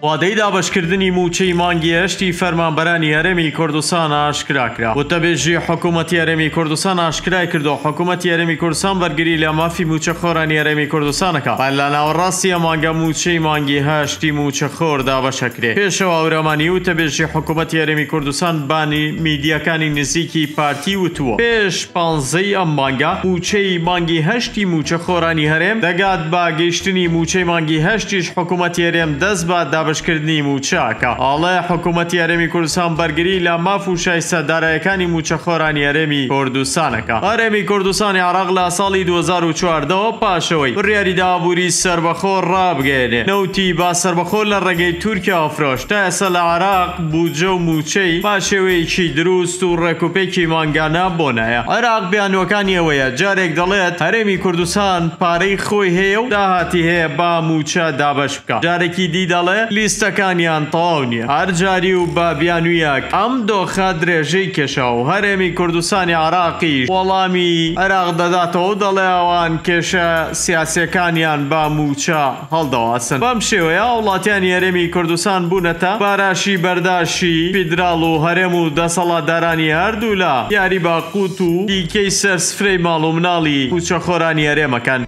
وادەی دابەشکردنی مووچەی مانگی هەشتی فەرمانبەرانی هەرێمی کوردستان ئاشکرا کرا. وتەبێژی حکوومەتی هەرێمی کوردستان ئاشکرای کردووە، حکوومەتی هەرێمی کوردستان بەرگری لە مافی مووچەخۆرانی هەرێمی کوردستان ئەکا. هەر لە ناوەڕاستی ئەم مانگە مووچەی مانگی هەشتی مووچەخۆر دابەش ئەکرێ. پێشەوا هەورامانی وتەبێژی حکوومەتی هەرێمی کوردستان بە میدیاکانی نزیکی پارتی وتووە، پێش پانزەی ئەم مانگە مووچەی مانگی هەشتی مووچەخۆرانی هەرێم دەگات، بە گەیشتنی مووچەی مانگی هەشتیش حکوومەتی هەرێم دەست بە دابەشکردنی مووچە ئەکا. ئەڵێ حکوومەتی هەرێمی کوردستان بەرگری لە ماف و شایستە دارایەکانی مووچەخۆرانی هەرێمی کوردستان ئەکا. هەرێمی کوردستانی عێراق لە ساڵی 2014 وە پاش ئەوەی بڕیاری دا ئابووری سەربەخۆ ڕابگەیەنێ، نەوتی بە سەربەخۆ لە ڕێگەی تورکیاوە فرۆشت، تا ئێستا لە عێراق بودجە و مووچەی بە شێوەیەکی دروست و ڕێکوپێکی مانگانە بۆ نایە. عێراق بیانووەکانی ئەوەیە، جارێک دەڵێت هەرێمی کوردستان پارەی خۆی هەیە و داهاتی هەیە با مووچە دابەش بکا، جارێکی دی دەڵێ لیستەکانیان تەواو نییە. هەر جاری و بە بیانوویەک ئەم دۆخە درێژەی کێشا و هەرێمی کوردستانی عێراقیش وەڵامی عێراق دەداتەوە و دەڵێ ئەوان کێشە سیاسییەکانیان بە مووچە هەڵدەواسن. بەم شێوەیە هاوڵاتیانی هەرێمی کوردستان بوونەتە باراشی بەرداشی فیدراڵ و هەرێم و دەسەڵاتدارانی هەردوولا یاری بە قوت و دیکەی سەر سفرەی ماڵ و مناڵی مووچەخۆرانی هەرێمەکەن.